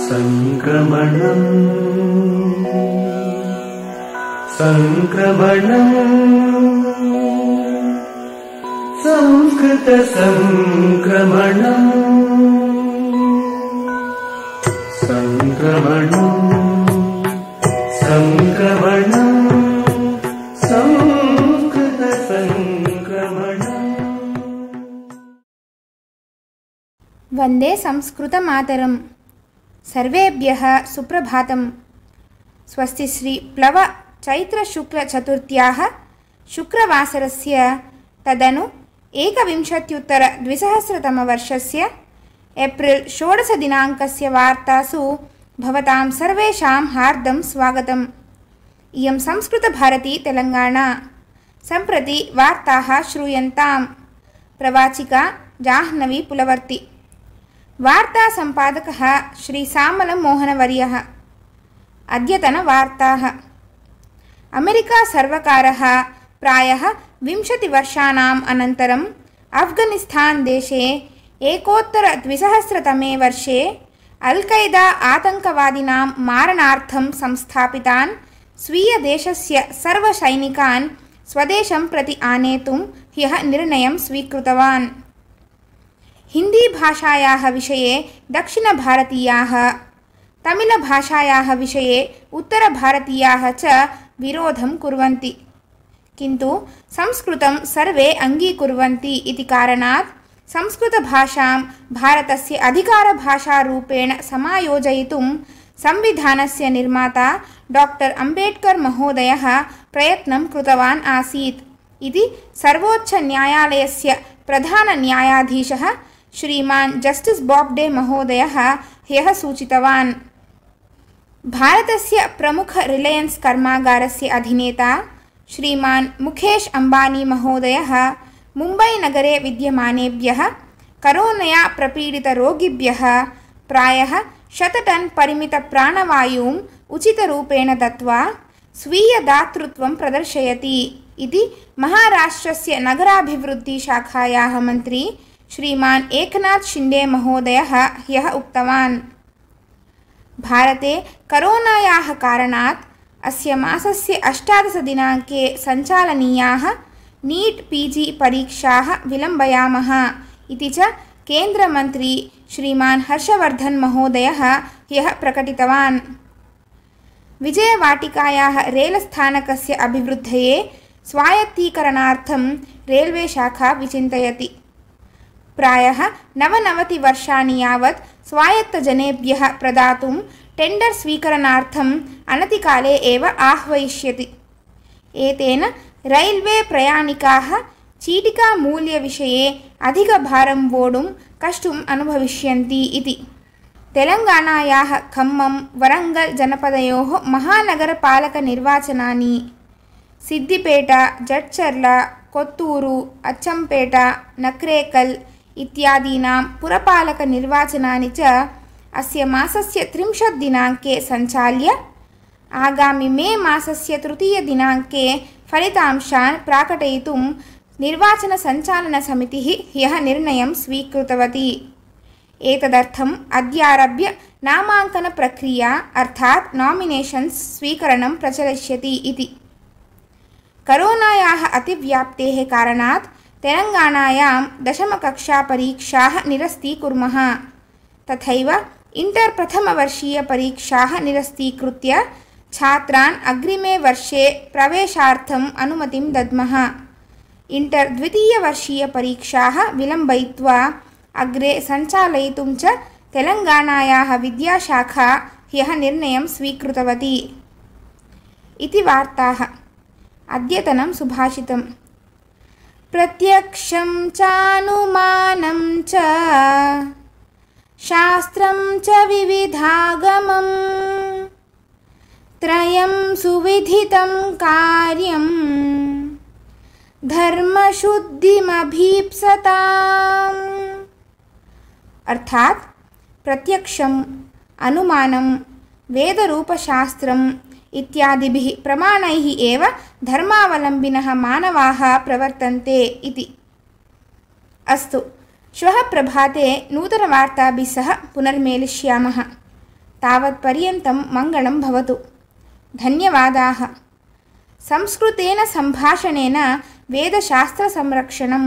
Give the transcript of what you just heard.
संक्रमणं संक्रमणं संस्कृत संक्रमणं संक्रमणं संक्रमणं संस्कृत संक्रमणं। वंदे संस्कृतमातरम्। सर्वेभ्यः सुप्रभातम्। स्वस्ति श्री प्लव चैत्र शुक्ल चतुर्थ्याः शुक्रवासरस्य तदनु 21-द्विसहस्रतमवर्षस्य एप्रिल 16 दिनाङ्कस्य वार्तासु भवतां सर्वेषां हार्दं स्वागतम्। इयं संस्कृतभारती तेलंगाना। सम्प्रति वार्ताः श्रूयन्ताम्। प्रवाचिका जाह्नवी पुलवर्ति। वार्ता संपादकः श्री सामल मोहनवर्यः। अद्यतनवार्ताः। अमेरिका सर्वकारः प्रायः 20 वर्षाणाम् अनन्तरम् अफ्घानिस्तान् देशे 2001 वर्षे अल्कैदा आतङ्कवादिनां मारणार्थं संस्थापितान् स्वीयदेशस्य सर्वसैनिकान् स्वदेशं प्रति आनेतुं ह्यः निर्णयं स्वीकृतवान्। हिंदी भाषायाः विषये दक्षिणभारतीयाः, तमिळभाषायाः विषये उत्तरभारतीयाः च विरोधं कुर्वन्ति, किन्तु संस्कृतं सर्वे अङ्गीकुर्वन्ति इति कारणात् संस्कृतभाषां भारतस्य अधिकारभाषारूपेण समायोजयितुं संविधानस्य निर्माता डॉक्टर अम्बेडकर महोदयः प्रयत्नं कृतवान् आसीत् इति सर्वोच्चन्यायालयस्य प्रधानन्यायाधीशः श्रीमान् जस्टिस बॉब्डे महोदयः ह्यः सूचितवान्। भारतस्य प्रमुख रिलायंस कर्मागारस्य अधिनेता श्रीमान् मुकेश अंबानी महोदयः मुम्बै नगरे विद्यमानेभ्यः करोनया प्रपीडितरोगिभ्यः प्रायः 100 टन परिमित प्राणवायुम् उचितरूपेण दत्त्वा स्वीयदातृत्वं प्रदर्शयति इति महाराष्ट्रस्य नगराभिवृद्धिशाखायाः मन्त्री श्रीमान् एकनाथ शिंदे महोदयः ह्यः उक्तवान्। भारते करोनायाः कारणात् अस्य मासस्य 18 दिनाङ्के सञ्चालनीयाः नीट पीजी परीक्षाः विलम्बयामः इति च केन्द्रमन्त्री श्रीमान् हर्षवर्धन महोदयः ह्यः प्रकटितवान्। विजयवाटिकायाः रेलस्थानकस्य अभिवृद्धये स्वायत्तीकरणार्थं रेल्वे शाखा विचिन्तयति। प्रायः 99 वर्षाणि यावत् स्वायत्तजनेभ्यः प्रदातुं टेंडर स्वीकरणार्थम् अनतिकाले एव आह्वयिष्यति। एतेन रैल्वे प्रयाणिकाः चीटिकामूल्यविषये अधिकभारं वोढुं कष्टम् अनुभविष्यन्ति इति। तेलंगानायाः खम्मं वरंगल जनपदयोः महानगरपालकनिर्वाचनानि सिद्दिपेट, जड्चर्ल, कोत्तूरु, अच्चंपेट, नक्रेकल इत्यादीनां पुरपालकनिर्वाचनानि च अस्य मासस्य 30 दिनाङ्के सञ्चाल्य आगामि मे मासस्य 3 दिनाङ्के फलितांशान् प्राकटयितुं निर्वाचनसञ्चालनसमितिः ह्यः निर्णयं स्वीकृतवती। एतदर्थम् अद्यारभ्य नामाङ्कनप्रक्रिया अर्थात् नॉमिनेशन्स् स्वीकरणं प्रचलिष्यति इति। करोनायाः अतिव्याप्तेः कारणात् तेलंगानायां 10मकक्षा परीक्षाः निरस्तीकुर्मः। तथैव इंटर प्रथमवर्षीय परीक्षाः निरस्तीकृत्य छात्रान् अग्रिमे वर्षे प्रवेशार्थम् अनुमतिं दद्मः। इंटर द्वितीयवर्षीय परीक्षाः विलम्बयित्वा अग्रे सञ्चालयितुं च तेलंगानायाः विद्याशाखा ह्यः निर्णयं स्वीकृतवती इति वार्ताः। अद्यतनं सुभाषितम्। प्रत्यक्षं चानुमानं च शास्त्रं च विविधागमं त्रयं सुविधितं कार्यं धर्मशुद्धिमभीप्सताम्। अर्थात प्रत्यक्षं, अनुमानं, वेदरूपशास्त्रम् इत्यादिभिः प्रमाणैः एव धर्मावलम्बिनः मानवाः प्रवर्तन्ते इति। अस्तु, श्वः प्रभाते नूतनवार्ताभिः सह पुनर्मेलिष्यामः। तावत्पर्यन्तं मङ्गलं भवतु। धन्यवादाः। संस्कृतेन सम्भाषणेन वेदशास्त्रसंरक्षणं